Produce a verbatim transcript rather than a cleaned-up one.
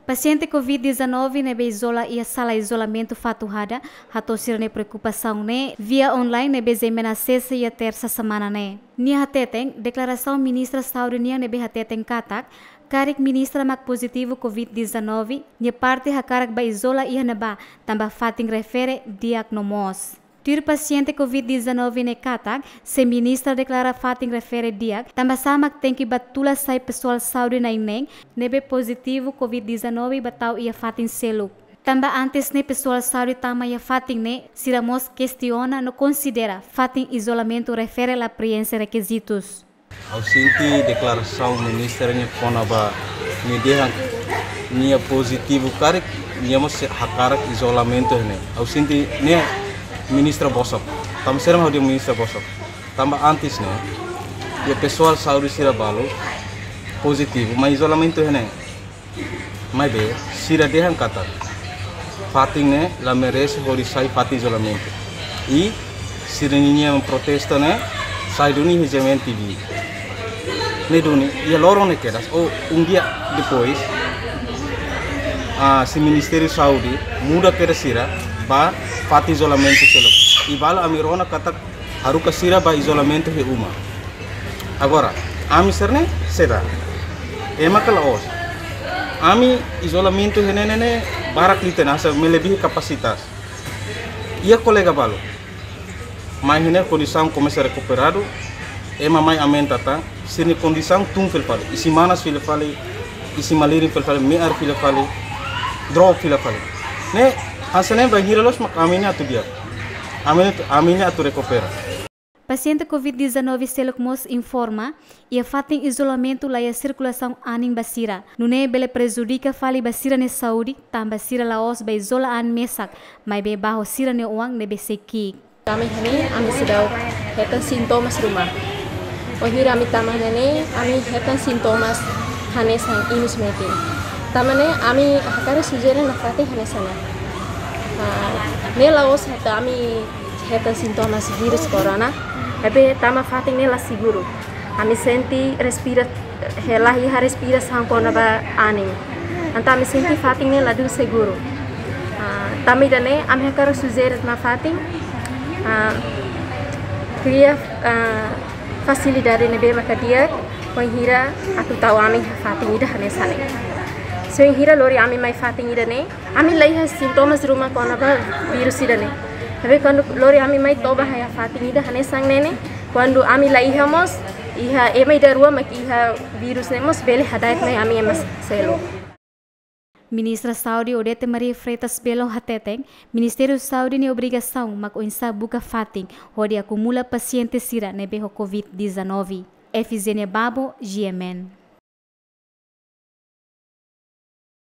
Pasiente covid dezanove ne'ebé izola iha sala izolamentu Fatuhada hato'o sira-nia preokupasaun ne'e via online ne'ebé G M N asesa iha Tersa semana ne'e. Nia hateten, deklarasaun Ministra Saúde nian ne'ebé hateten katak, karik Ministra mak pozitivu covid dezanove, nia parte hakarak bá izola iha ne'ebá, tanba fatin refere di'ak no moos. Tuir pasiente covid dezanove ne'e katak, se Ministra deklara fatin refere di'ak, tanbasá mak tenke bá tula sai pesoál saúde na'in-neen ne'ebé pozitivu covid dezanove bá tau iha fatin seluk. Tanba antes ne'e pesoál saúde tama iha fatin ne'e, sira mós kestiona no konsidera fatin izolamentu refere la prienxe rekizitus. Ha'u sente deklarasaun Ministra nian kona-ba nia dehan nia pozitivu karik, nia mós hakarak izolamentu ne'e. Ha'u sente ne'e Ministra bosok. Tanba sira mak ha'u dehan Ministra bosok. Tanba antes ne'e, iha pesoál saúde sira balu pozitivu, mai izolamentu ne'e. Maibé, sira dehan katak fatin ne'e la merese hodi sai fatin izolamentu. I sira-nia protesta ne'e sai duni iha G M N T V. Ne'e duni, iha loron ne'e kedas, ou um dia depois, ah, si Ministériu Saúde muda kedas sira ba fatin izolamentu seluk. I balu ami rona katak haruka sira ba izolamentu iha uma. Agora, ami sira-ne'e, seda. Ema ka la'ós. Ami izolamentu iha ne'e ne'e barak liu tiha ona, hanesan melebihi kapasitas. Iha kolega balu. Mai iha ne'e kondisaun komesa rekuperadu, ema mai aumenta tan, sira-nia kondisaun tun fila fali, isin manas fila fali, isin malirin fila fali, me'ar fila fali, drop fila fali. Ne'e, hanesan ne'e bainhira loos mak ami ne'e atu di'ak. Ami ne'e, ami ne'e atu rekupera. Pasiente covid dezanove seluk mós informa, iha fatin izolamentu laiha sirkulasaun anin ba sira. Nune'e bele prejudika fali ba sira-nia saúde, tanba sira la'ós bá izola an mesak, maibé bá ho sira-nia oan ne'ebé sei ki'ik. Ami iha ne'e, ami seidauk hetan sintomas ruma. Wainhira ami tama iha ne'e, ami hetan sintomas hanesan inus metin. Tanba ne'e, ami hakarak sujere nafatin hanesan ne'e. Ah, ne'e la'ós atu ami hetan sintomas virus corona, maibé tanba fatin ne'e la seguru. Ami sente respira, eh, la iha respirasaun kona-ba anin. Entaun ami sente fatin ne'e ladún seguru. Ah, tanba ida-ne'e, ami hakarak sujere nafatin, ah, kria, ah, fasilidade ne'ebé maka di'ak, wainhira atu tau ami iha fatin ida hanesan ne'e. Se wainhira lori ami mai fatin ida-ne'e, ami la iha sintomas ruma kona-ba virus ida-ne'e. Tapi kuandu lori ami mai toba iha fatin ida hanesan ne'e ne'e, kuandu ami la iha mós, iha ema ida rua mak iha virus ne'e mós bele hada'et mai ami ema seluk. Ministra Saúde Odete Maria Freitas Belo hateten, Ministériu Saúde nia obrigasaun mak oinsá buka fatin hodi akumula pasiente sira ne'ebé ho covid dezanove. Efigenia Babo, G M N.